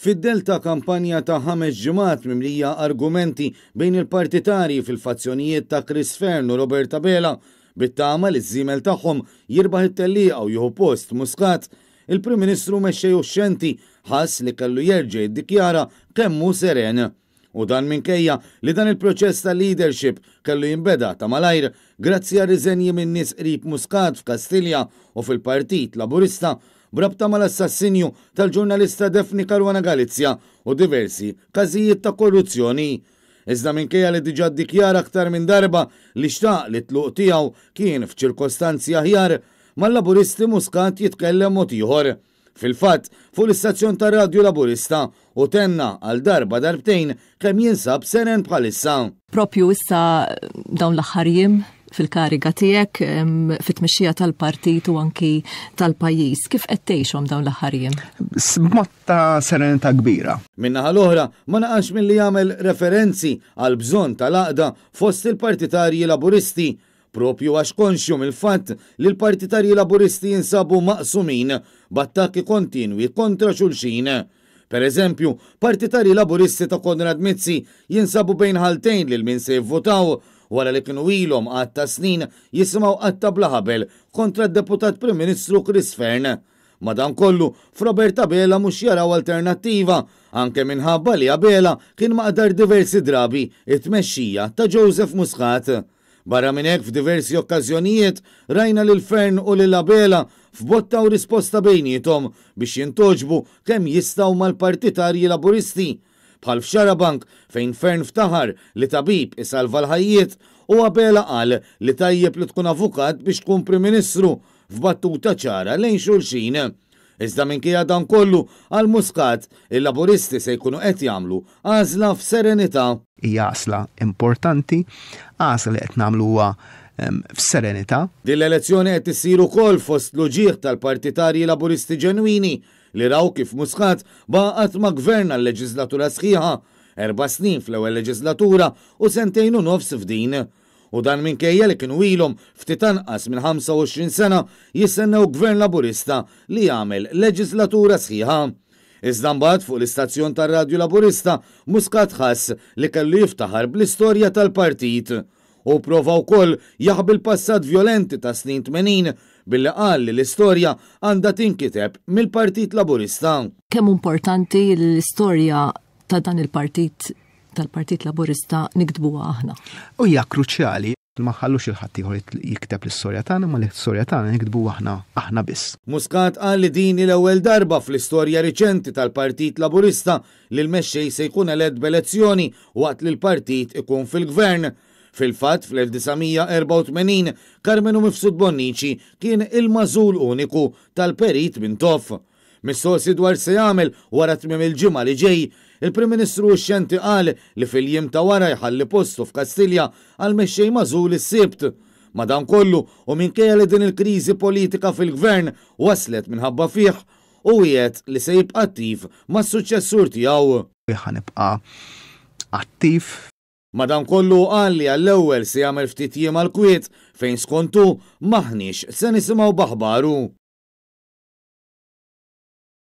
Fid-dell ta' kampanja ta' ħames ġimgħat mimlija argumenti bejn il-partitarji fil-fazzjonijiet ta' Chris Fearne u Robert Abela, bit-tama li ż-żiemel tagħhom jirbaħ it-tellieqa u jieħu post Muscat, il-Prim Ministru mexxej uxxenti ħass li kellu jerġa' jiddikjara kemm hu seren. U dan minkejja li dan il-proċess ta' leadership kellu jinbeda ta' malajr grazzi għar-riżenji minn nies qrib Muscat f'Kastilja u fil-Partit Laburista b'rabta mal-assassinju tal-ġurnalista Daphne Caruana Galizia u diversi każijiet ta' korruzzjoni. Iżda minkejja li diġà ddikjara aktar minn darba li xtaq li t-tluq tiegħu kien f'ċirkostanzi aħjar, mal-Laburisti Muscat jitkellem mod ieħor. Fil-fatt, fuq l-istazzjon tar-radju Laburista, hu tenna għal darba darbtejn kemm jinsab seren bħalissa. Propju issa dawn l-aħħar jiem fil-kariga tiegħek fit-tmexxija tal-partit u anki tal-pajjiż. Kif qed tgħixhom dawn l-aħħar jiem? B'mod ta' serenità kbira. Min-naħa l-oħra, ma naqasx milli jagħmel referenzi għall-bżonn tal-għaqda fost il-partitarji Laburisti Proprju għax konxju mill-fatt li l-partitarji Laburisti jinsabu maqsumin b'attakki kontinwi kontra xulxin. Per eżempju, partitarji Laburisti ta' Konrad Mizzi jinsabu bejn ħaltejn lil min se jivvutaw wara li kienu ilhom għadd ta' snin jisimgħu qatta' bla ħabel kontra d-Deputat Prim Ministru Chris Fearne. Madankollu, f'Robert Abela mhux jaraw alternattiva, anke minħabba li Abela kien maqdar diversi drabi t-tmexxija ta' Joseph Muscat. Barra minn hekk f'diversi okkażjonijiet rajna lil Fearne u lil Abela f'botta u risposta bejniethom biex jintgħoġbu kemm jistgħu mal-partitarji Laburisti. Bħal f'Xarabank fejn Fearne ftaħar li tabib isalva l-ħajjiet u Abela qal li tajjeb li tkun avukat biex tkun Prim Ministru f'battuta ċara lejn xulxin. Iżda minkejja dan kollu, għal Muscat, il-Laburisti se jkunu qed jagħmlu għażla f'serenità. Hija għażla importanti, għażla li qed nagħmluha f'serenità. Din l-elezzjoni qed issir ukoll fost l-uġigħ tal-partitarji Laburisti ġenwini li raw kif Muscat baqa' qatt ma ggverna l-leġiżlatura sħiħa, erba' snin fl-ewwel leġiżlatura u sentejn u nofs f'din. U dan minkejja li kienu ilhom ftit anqas minn 25 sena jistennew Gvern Laburista li jagħmel leġiżlatura sħiħa. Iżda mbagħad fuq l-istazzjon tar-radju Laburista, Muscat ħass li kellu jiftaħar bl-istorja tal-partit. Hu pprova wkoll jaħbi l-passat vjolenti tas-snin 80 billi qal li l-istorja għandha tinkiteb mill-Partit Laburista. Kemm hu importanti li l-istorja ta' dan il-partit tal-Partit Laburista niktbuha aħna. U hija kruċjali ma nħallux lil ħaddieħor jikteb l-istorja tagħna, imma l-istorja tagħna niktbuha aħna, aħna biss. Muscat qal li din hi l-ewwel darba fl-istorja riċenti tal-Partit Laburista li l-mexxej se jkun elett b'elezzjoni waqt li l-partit ikun fil-Gvern. Fil-fatt, fl-1984, Karmenu Mifsud Bonnici kien il-magħżul uniku tal-Perit Mintoff. Mistoqsi dwar x'se jagħmel wara tmiem il-ġimgħa li ġej, il-Prim Ministru uxxenti qal li fil-jiem ta' wara jħalli postu f'Kastilja għall-mexxej magħżul is-Sibt. Madankollu, u minkejja li din il-kriżi politika fil-Gvern waslet minħabba fih, hu wiegħed li se jibqa' attiv mas-suċċessur tiegħu. Ħa nibqa' attiv. Madankollu hu qal li għall-ewwel se jagħmel ftit jiem għall-kwiet fejn skont hu m'aħniex se nisimgħu b'aħbaru.